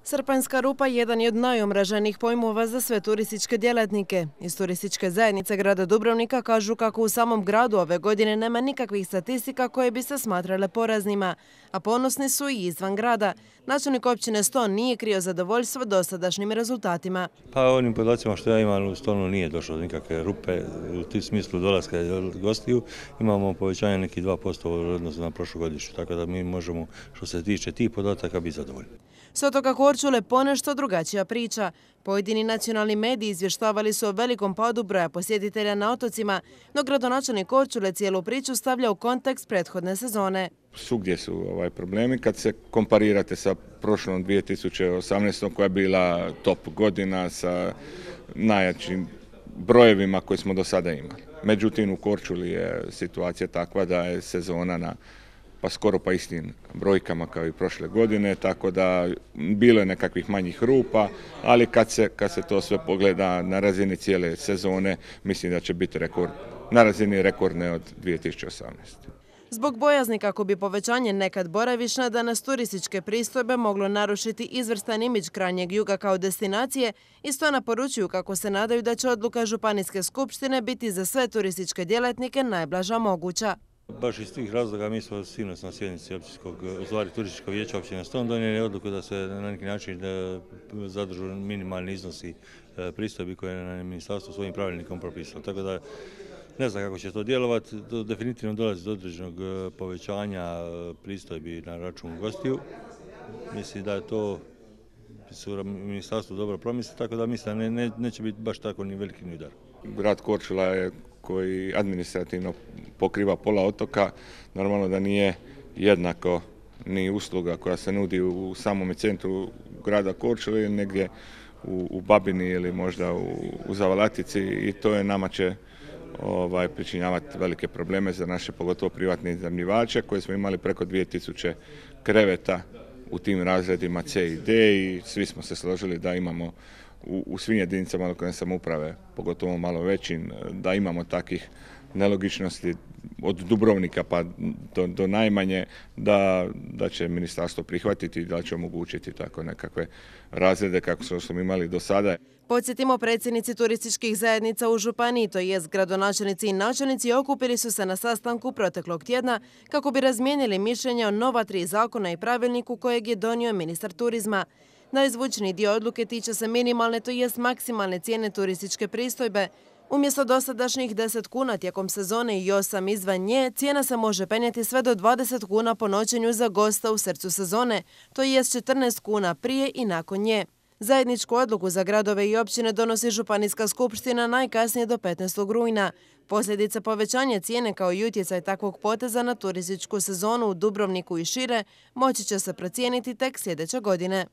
Srpanjska rupa jedan je od najomraženijih pojmova za sve turističke djelatnike. Iz turističke zajednice grada Dubrovnika kažu kako u samom gradu ove godine nema nikakvih statistika koje bi se smatrale poraznima, a ponosni su i izvan grada. Načelnik općine Ston nije krio zadovoljstvo dosadašnjim rezultatima. Pa onim podacima što ja imam u Stonu nije došlo do nikakve rupe. U smislu dolaska gostiju imamo povećanje nekih 2% u odnosu na prošlogodišnju, tako da mi možemo što se tiče tih podataka biti zadovoljni. S otoka Korčule ponešto drugačija priča. Pojedini nacionalni mediji izvještavali su o velikom padu broja posjetitelja na otocima, no gradonačelnik Korčule cijelu priču stavlja u kontekst prethodne sezone. Svugdje su problemi kad se komparirate sa prošlom 2018. koja je bila top godina sa najjačim brojevima koje smo do sada imali. Međutim, u Korčuli je situacija takva da je sezona pa skoro pa istim brojkama kao i prošle godine, tako da bilo je nekakvih manjih rupa, ali kad se to sve pogleda na razini cijele sezone, mislim da će biti rekord, na razini rekordne od 2018. Zbog bojazni kako bi povećanje nekad boravišna danas turističke pristojbe moglo narušiti izvrstan imidž krajnjeg juga kao destinacije, isto naporučuju kako se nadaju da će odluka Županijske skupštine biti za sve turističke djelatnike najblaža moguća. Baš iz tih razloga mi smo sinoć na sjednici turističkog vijeća općine Ston donijeli odluku da se na neki način zadržu minimalni iznosi pristojbi koje je na ministarstvo svojim pravilnikom propisalo. Tako da ne znam kako će to djelovati, definitivno dolazi do određenog povećanja pristojbi na račun gostiju. Mislim da je to su ministarstvo dobro promisli, tako da mislim da neće biti baš tako ni veliki ni udar. Grad Korčula je koji administrativno pokriva pola otoka, normalno da nije jednako ni usluga koja se nudi u samom centru grada Korčule ili negdje u Babini ili možda u Zavalatici i to je nama će pričinjavati velike probleme za naše pogotovo privatne iznajmljivače koje smo imali preko 2000 kreveta u tim razredima C i D i svi smo se složili da imamo u svim jedinicama lokalne samouprave, pogotovo malo većim, da imamo takvih nelogičnosti od Dubrovnika pa do najmanje, da će ministarstvo prihvatiti i da će omogućiti tako nekakve razrede kako smo imali do sada. Podsjetimo, predsjednici turističkih zajednica u županiji, to jest gradonačelnici i načelnici, okupili su se na sastanku proteklog tjedna kako bi razmijenili mišljenja o nova 3 zakona i pravilniku kojeg je donio ministar turizma. Najzvučniji dio odluke tiče se minimalne, to jest maksimalne cijene turističke pristojbe. Umjesto dosadašnjih 10 kuna tijekom sezone i 8 izvan nje, cijena se može penjati sve do 20 kuna po noćenju za gosta u srcu sezone, to jest 14 kuna prije i nakon nje. Zajedničku odluku za gradove i općine donosi Županijska skupština najkasnije do 15. rujna. Posljedice povećanja cijene kao i utjecaj takvog poteza na turističku sezonu u Dubrovniku i šire moći će se procijeniti tek sljedeće godine.